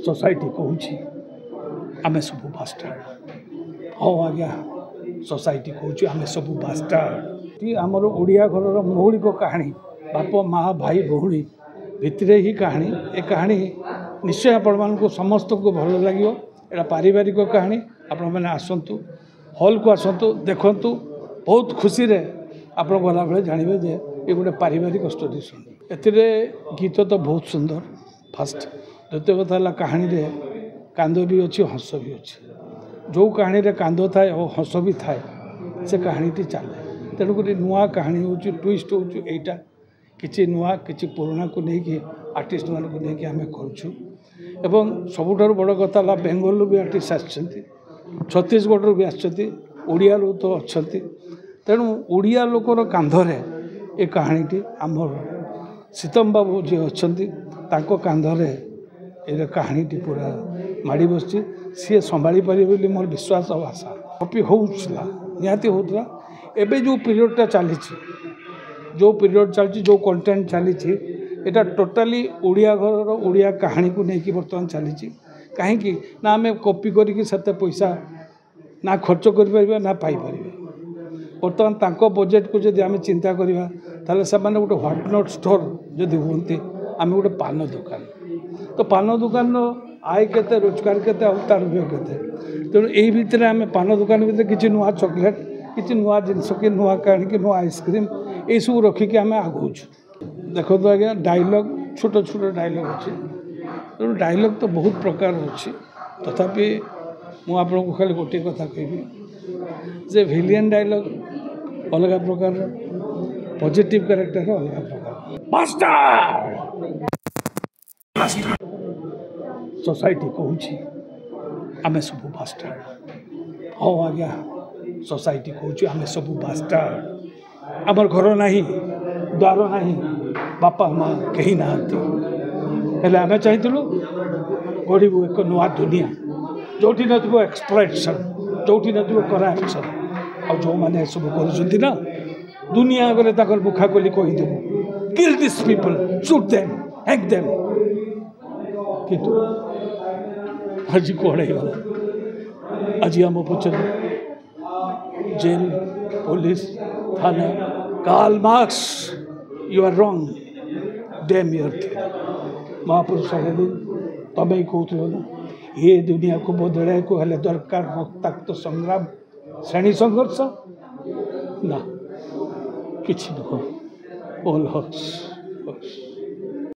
Society କହୁଛି ଆମେ ସବୁ ବାଷ୍ଟାର୍ଡ଼। ହଁ ଆଜ୍ଞା, ସୋସାଇଟି କହୁଛି ଆମେ ସବୁ ବାଷ୍ଟାର୍ଡ଼। ଆମର ଓଡ଼ିଆ ଘରର ମୌଳିକ କାହାଣୀ, ବାପ ମା ଭାଇ ଭଉଣୀ ଭିତରେ ହିଁ କାହାଣୀ। ଏ କାହାଣୀ ନିଶ୍ଚୟ ଆପଣମାନଙ୍କୁ ସମସ୍ତଙ୍କୁ ଭଲ ଲାଗିବ। ଏଇଟା ପାରିବାରିକ କାହାଣୀ। ଆପଣମାନେ ଆସନ୍ତୁ, ହଲ୍କୁ ଆସନ୍ତୁ, ଦେଖନ୍ତୁ, ବହୁତ ଖୁସିରେ ଆପଣ ଗଲାବେଳେ ଜାଣିବେ ଯେ ଏ ଗୋଟେ ପାରିବାରିକ ଷ୍ଟୋରି। ଶୁଣି ଏଥିରେ ଗୀତ ତ ବହୁତ ସୁନ୍ଦର ଫାଷ୍ଟ, ଦ୍ୱିତୀୟ କଥା ହେଲା କାହାଣୀରେ କାନ୍ଦ ବି ଅଛି, ହସ ବି ଅଛି। ଯେଉଁ କାହାଣୀରେ କାନ୍ଦ ଥାଏ ଓ ହସ ବି ଥାଏ, ସେ କାହାଣୀଟି ଚାଲେ। ତେଣୁକରି ନୂଆ କାହାଣୀ ହେଉଛି, ଟୁଇଷ୍ଟ ହେଉଛି ଏଇଟା। କିଛି ନୂଆ କିଛି ପୁରୁଣାକୁ ନେଇକି ଆର୍ଟିଷ୍ଟମାନଙ୍କୁ ନେଇକି ଆମେ କରୁଛୁ। ଏବଂ ସବୁଠାରୁ ବଡ଼ କଥା ହେଲା ବେଙ୍ଗଲରୁ ବି ଆର୍ଟିଷ୍ଟ ଆସିଛନ୍ତି, ଛତିଶଗଡ଼ରୁ ବି ଆସିଛନ୍ତି, ଓଡ଼ିଆରୁ ତ ଅଛନ୍ତି। ତେଣୁ ଓଡ଼ିଆ ଲୋକର କାନ୍ଧରେ ଏ କାହାଣୀଟି, ଆମର ସୀତମ ବାବୁ ଯିଏ ଅଛନ୍ତି ତାଙ୍କ କାନ୍ଧରେ ଏ କାହାଣୀଟି ପୁରା ମାଡ଼ି ବସିଛି। ସିଏ ସମ୍ଭାଳି ପାରିବେ ବୋଲି ମୋର ବିଶ୍ୱାସ ଆଉ ଆଶା। କପି ହେଉଥିଲା, ନିହାତି ହେଉଥିଲା। ଏବେ ଯେଉଁ ପିରିୟଡ଼ଟା ଚାଲିଛି, ଯେଉଁ ପିରିୟଡ଼ ଚାଲିଛି, ଯେଉଁ କଣ୍ଟେଣ୍ଟ ଚାଲିଛି, ଏଇଟା ଟୋଟାଲି ଓଡ଼ିଆ ଘରର ଓଡ଼ିଆ କାହାଣୀକୁ ନେଇକି ବର୍ତ୍ତମାନ ଚାଲିଛି। କାହିଁକି ନା ଆମେ କପି କରିକି ସେତେ ପଇସା ନା ଖର୍ଚ୍ଚ କରିପାରିବା ନା ପାଇପାରିବା। ବର୍ତ୍ତମାନ ତାଙ୍କ ବଜେଟ୍କୁ ଯଦି ଆମେ ଚିନ୍ତା କରିବା, ତାହେଲେ ସେମାନେ ଗୋଟେ ହ୍ୱାଇଟ୍ not store ଯଦି ହୁଅନ୍ତି, ଆମେ ଗୋଟେ ପାନ ଦୋକାନ। ତ ପାନ ଦୋକାନର ଆୟ କେତେ, ରୋଜଗାର କେତେ, ଆଉ ତାର ବ୍ୟୟ କେତେ? ତେଣୁ ଏଇ ଭିତରେ ଆମେ ପାନ ଦୋକାନ ଭିତରେ କିଛି ନୂଆ ଚକୋଲେଟ୍, କିଛି ନୂଆ ଜିନିଷ, କି ନୂଆ କାହାଣୀ, କି ନୂଆ ଆଇସ୍କ୍ରିମ୍, ଏଇସବୁ ରଖିକି ଆମେ ଆଗଉଛୁ। ଦେଖନ୍ତୁ ଆଜ୍ଞା, ଡାଇଲଗ୍ ଛୋଟ ଛୋଟ ଡାଇଲଗ୍ ଅଛି। ତେଣୁ ଡାଇଲଗ୍ ତ ବହୁତ ପ୍ରକାର ଅଛି। ତଥାପି ମୁଁ ଆପଣଙ୍କୁ ଖାଲି ଗୋଟିଏ କଥା କହିବି ଯେ ଭିଲିଆନ୍ ଡାଇଲଗ୍ ଅଲଗା ପ୍ରକାରର, ପଜିଟିଭ୍ କ୍ୟାରେକ୍ଟର ଅଲଗା ପ୍ରକାର। ସୋସାଇଟି କହୁଛି ଆମେ ସବୁ ବାଷ୍ଟାର୍ଡ଼। ହଁ ଆଜ୍ଞା, ସୋସାଇଟି କହୁଛି ଆମେ ସବୁ ବାଷ୍ଟାର୍ଡ଼। ଆମର ଘର ନାହିଁ, ଦ୍ୱାର ନାହିଁ, ବାପା ମା କେହି ନାହାନ୍ତି। ହେଲେ ଆମେ ଚାହିଁଥିଲୁ ଗଢ଼ିବୁ ଏକ ନୂଆ ଦୁନିଆ, ଯେଉଁଠି ନଥିବ ଏକ୍ସପ୍ଲଏଟେସନ୍, ଯେଉଁଠି ନଥିବ କରାପସନ୍। ଆଉ ଯେଉଁମାନେ ଏସବୁ କରୁଛନ୍ତି ନା, ଦୁନିଆ ଆଗରେ ତାଙ୍କର ମୁଖା ଖୋଲି କହିଦେବୁ, kill this people, shoot them, hang them। କିନ୍ତୁ ଆଜି କ'ଣ ହେଇଗଲା? ଆଜି ଆମ ପଛରେ ଜେଲ୍, ପୋଲିସ, ଥାନା। Karl Marx, you are wrong, damn your theory। ମହାପୁରୁଷ ଲେନିନ୍, ତମେ ହିଁ କହୁଥିଲ ନା, ଏ ଦୁନିଆକୁ ବଦଳାଇବାକୁ ହେଲେ ଦରକାର ରକ୍ତାକ୍ତ ସଂଗ୍ରାମ, ଶ୍ରେଣୀ ସଂଘର୍ଷ। ନା, କିଛି ନୁହଁ, ଅଲ୍ ହକ୍ସ।